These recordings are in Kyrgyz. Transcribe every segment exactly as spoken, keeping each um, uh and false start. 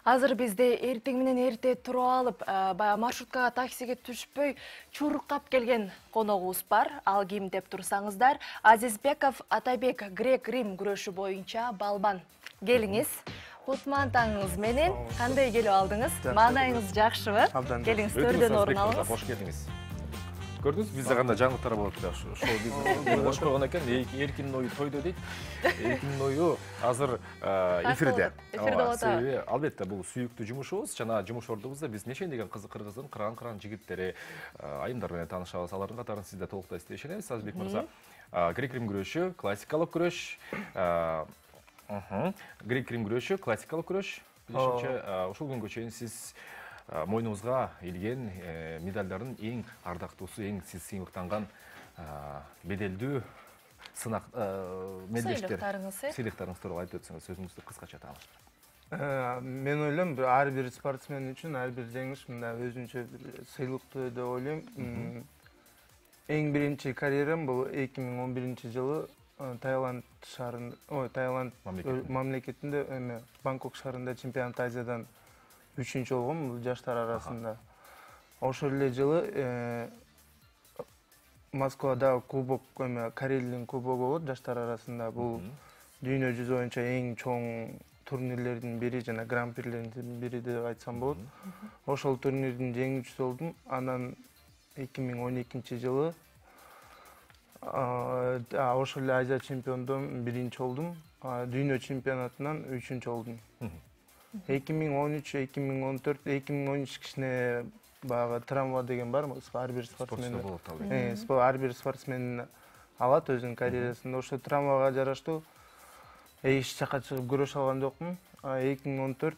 Азыр бизде эртең менен эрте туруп алып, баягы маршруткага, таксиге түшпөй чуркап келген коногубуз бар. Ал ким деп турсаңыздар, Азизбеков Атабек грек-рим күрөшү боюнча балбан. Келиңиз. Кутмантаңыз менен кандай келип алдыңыз? Маанайыңыз жакшыбы? Келиңиз, төрдөн орун алыңыз. Кош келдиңиз. Көрдүңүз, бизде кандай жаңылыктар болот да, шоу бизнес. Кош койгон экен, Эркиндин ою тойдо дейт. Эркиндин ою азыр эфирде. Эфирде болот. Албетте, бул сүйүктүү жумушубуз. Жана жумуш ордубузда биз нечен деген кызык кыргыздын кыран-кыран жигиттери, айымдар менен таанышабыз. Алардын катарын сизде толуктай иштешенебиз. Азизбек мырза, грек-рим күрөшү, классикалык күрөш. Грек-рим күрөшү, классикалык күрөш. Билишимче, ушул күнгө чейин сиз мойнуңузга илген медалдардын эң ардактуусу, эң сиз сыймыктанган беделдүү сынак медалдер, сыйлыктарыңыз тууралуу айтып өтсөңүз, өзүңүздү кыскача тааныштырып. Мен ойлойм, ар бир спортсмен үчүн ар бир жеңиш мындай өзүнчө бир сыйлыктуу деп ойлойм. Эң биринчи карьерам бул эки миң он биринчи жылы Таиланд шаарында, ой, Таиланд мамлекетинде, эме Бангкок шаарында чемпионат Азиядан үчүнчү болгом, бул жаштар арасында. Ошол эле жылы Москвада кубок, эме Карелиянын кубогу болот жаштар арасында. Бул дүйнө жүзү боюнча эң чоң турнирлердин бири жана гран-прилердин бири деп айтсам болот. Ошол турнирдин жеңүүчүсү болдум. Анан эки миң он экинчи жылы ошол эле Азия чемпиондон биринчи болдум. Дүйнө чемпионатынан үчүнчү болдум. эки миң он үч, эки миң он төрт, эки миң он үч кичине баягы травма деген бар, ар бир спортсмен. Э, ар бир спортсмен алат өзүнүн карьерасында. Ошо травмага жараштуу эч жака чыгып күрөшө алган жокмун. эки миң он төрт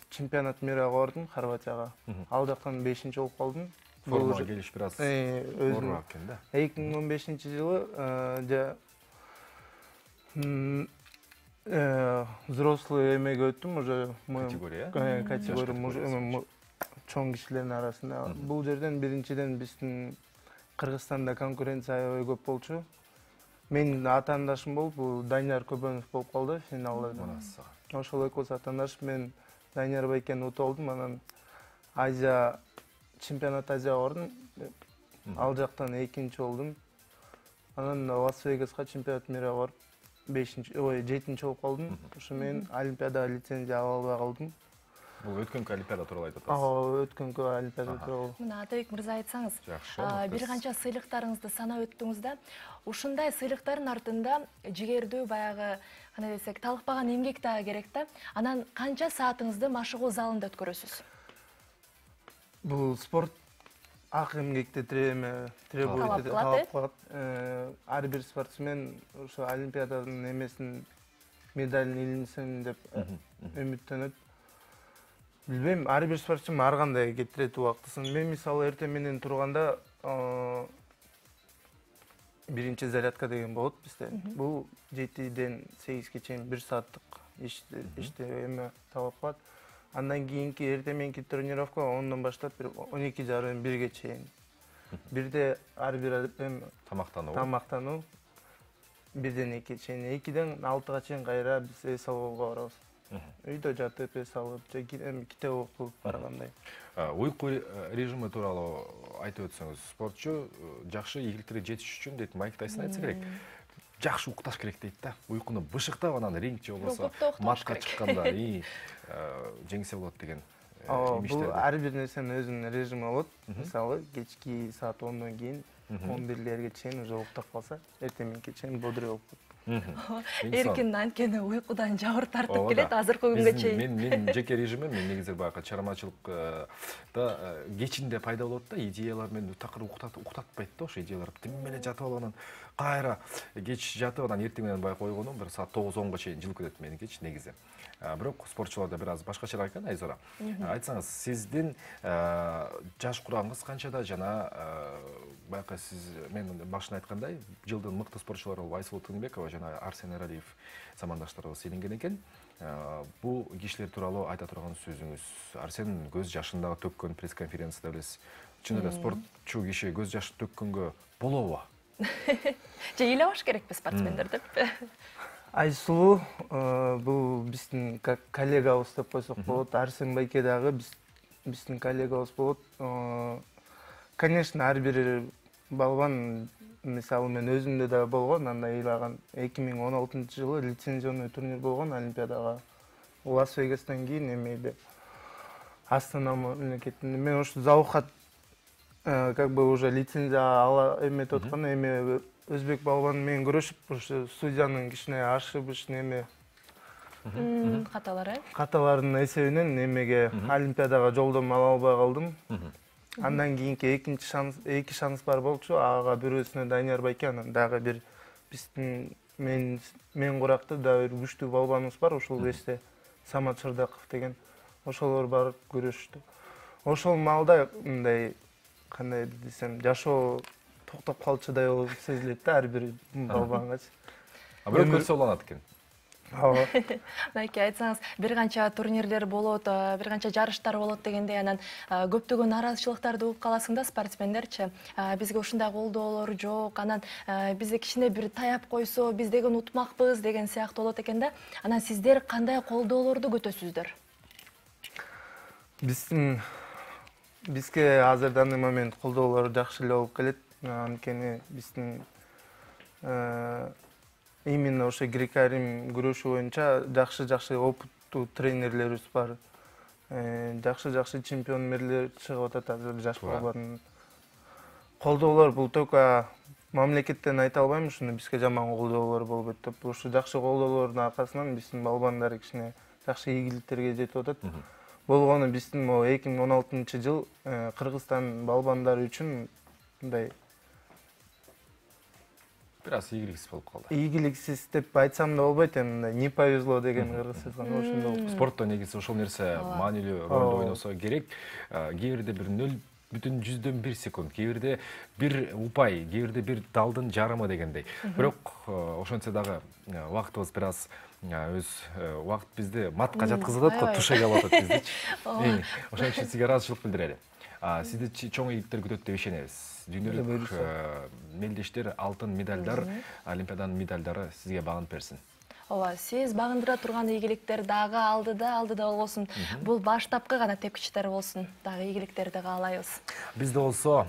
чемпионат мирге бардым Хорватияга. Ал жактан бешинчи болуп калдым. Формага келиш бир аз оорураак экен да. эки миң он бешинчи жылы взрослый эмеге өттүм, уже категория. Категория чоң кишилердин арасында. Бул жерден биринчиден биздин Кыргызстанда конкуренция аябай көп болчу. Менин атаандашым болуп, бул Данияр Көбөнов болуп калды финалда. Ошол экөөбүз атаандаш, мен Данияр Байкени утуп алдым, анан Азия чемпионат Азияга бардым. Ал жактан экинчи болдум. Анан Лас-Вегаска чемпионат мирге барып бешинчи, ой, жетинчи болуп калдым. Ошо мен Олимпиадага лицензия ала албай калдым. Бул өткөнкү Олимпиада тууралуу айтып атасыз. Ооба, өткөнкү Олимпиада тууралуу. Мына Атабек мырза айтсаңыз, жакшы. Бир канча сыйлыктарыңызды санап өттүңүз да. Ушундай сыйлыктардын артында жигердүү баягы, кандай десек, талыкпаган эмгек дагы керек да. Анан канча саатыңызды машыгуу залында өткөрөсүз? Бул спорт ак эмгекти требует, талап кылат. Ар бир спортсмен ошо Олимпиаданын эмесин медалин илинсин деп үмүттөнөт. Билбейм, ар бир спортсмен ар кандай кетирет убактысын. Мен мисалы эртең менен турганда биринчи зарядка деген болот бизде. Бул жетиден сегизге чейин бир сааттык иште эме талап кылат. Андан кийинки эртең мененки тренировка ондон баштап он эки жарым бирге чейин. Бирде ар бир тамактануу. Тамактануу бирден экиге чейин, экиден алтыга чейин кайра биз эс алууга барабыз. Үйдө жатып эс алып, китеп окуп баргандай. Уйку режими тууралуу айтып өтсөңүз, спортчу жакшы ийгиликтерге жетиш үчүн дейт Майк Тайсон айтса керек. Жакшы укташ керек дейт да. Уйкуну бышыктап анан ринг же болбосо матчка чыкканда жеңсе болот деген имиштер. Бул ар бир нерсенин өзүнүн режими болот. Мисалы, кечки саат ондон кийин он бирлерге чейин уже уктап калса, эртең мененке чейин бодрый болуп калат. Эркин анткени уйкудан жабыр тартып келет азыркы күнгө чейин. Мен жеке режимим, мен негизи баягы чармачылыкта кечинде пайда болот да, идеялар мени такыр уктатпайт да, ошо идеялар. Тим менен жатып алып анан кайра кеч жатып анан эртең менен баягы койгонум бир саат тогуз онго чейин жылып кетет меникичи негизи. Бирок спортчуларда бир аз башкачараак экен, Айзора. Айтсаңыз, сиздин жаш курамыңыз канчада жана баягы сиз мен башында айткандай, жылдын мыкты спортчулары болуп Айсулуу Тынбекова жана Арсен Эралиев замандаштарыбыз иленген экен. Бул кишилер тууралуу айта турган сөзүңүз. Арсен көз жашын дагы төккөн пресс-конференцияда билесиз. Чын эле спортчу киши көз жашы төккөнгө болобу? Же ыйлабаш керекпи спортсмендер деп? Айсулуу бул биздин коллегабыз деп койсок болот. Арсен Байке дагы биздин коллегабыз болот. Конечно, ар бир балбан, мисалы мен өзүмдө да болгон, андай ыйлаган эки миң он алтынчы жылы лицензионный турнир болгон Олимпиадага. Лас-Вегастан кийин эмеде Астана мамлекетинде мен ушу заухат как бы уже лицензия ала эметип аткан, эме өзбек балбаны менен күрөшүп, ушу судьянын кичине ашыбыш неме каталары каталарынын эсебинен эмеге Олимпиадага жолдомо ала албай калдым. Андан кийинки экинчи шанс, эки шанс бар болчу. Ага бирөөсүнө Данияр Байке, анан дагы бир биздин мен мен куракта дагы бир күчтүү балбаныбыз бар, ошол эсте Самат Шырдаков деген. Ошолор барып көрүштү. Ошол маалда мындай кандай десем, жашоо токтоп калчудай болуп сезилет да ар бир балбангачы. А бирөө көрсө уланат экен. Ооба. Байке, айтсаңыз, бир канча турнирлер болот, бир канча жарыштар болот дегенде, анан көптөгөн нараазычылыктарды угуп каласың да спортсмендерчи. Бизге ушундай колдоолор жок, анан бизди кичине бир таяп койсо, биз деген утмакпыз деген сыяктуу болот экен да. Анан сиздер кандай колдоолорду күтөсүздөр? Биздин бизге азыр данный момент колдоолор жакшы эле болуп келет. Анткени биздин именно ошо грек-рим күрөшү боюнча жакшы-жакшы опыттуу тренерлерибиз бар. Жакшы-жакшы чемпиондор чыгып атат азыр жаш балбан. Колдоолор бул только мамлекеттен айта албайм, ушуну бизге жаман колдоолор болбойт деп. Ушу жакшы колдоолордун аркасынан биздин балбандар кичине жакшы ийгиликтерге жетип атат. Болгону биздин могу эки миң он алтынчы жыл Кыргызстан балбандары үчүн мындай бир аз ийгиликсиз болуп калды. Ийгиликсиз деп айтсам да болбойт, эми не повезло деген кыргыз сөзү ошондой. Спортто негизи ошол нерсе маанилүү ролду ойносо керек. Кээ бирде бир нөл бүтүн жүздөн бир секунд, кээ бирде бир упай, кээ бирде бир далдын жарымы дегендей. Бирок ошентсе дагы убактыбыз бир аз өз убакыт бизди матка жаткызып атат го, тушайга алып атат биздичи. Ошон үчүн сизге ыраазычылык билдирели. Сизди чоң ийгиликтер күтөт деп ишенебиз. Дүйнөлүк мелдештер, алтын медалдар, Олимпиаданын медалдары сизге багынып берсин. Ооба, сиз багындыра турган ийгиликтер дагы алдыда, алдыда болсун. Бул баштапкы гана тепкичтер болсун. Дагы ийгиликтерди каалайбыз. Бизде болсо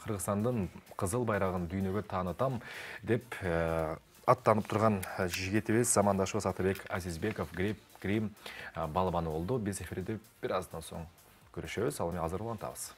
Кыргызстандын кызыл байрагын дүйнөгө таанытам деп аттанып турган жигитибиз, замандашыбыз Атабек Азизбеков грек-рим балбаны болду. Биз эфирде бир аздан соң көрүшөбүз. Ал эми азыр улантабыз.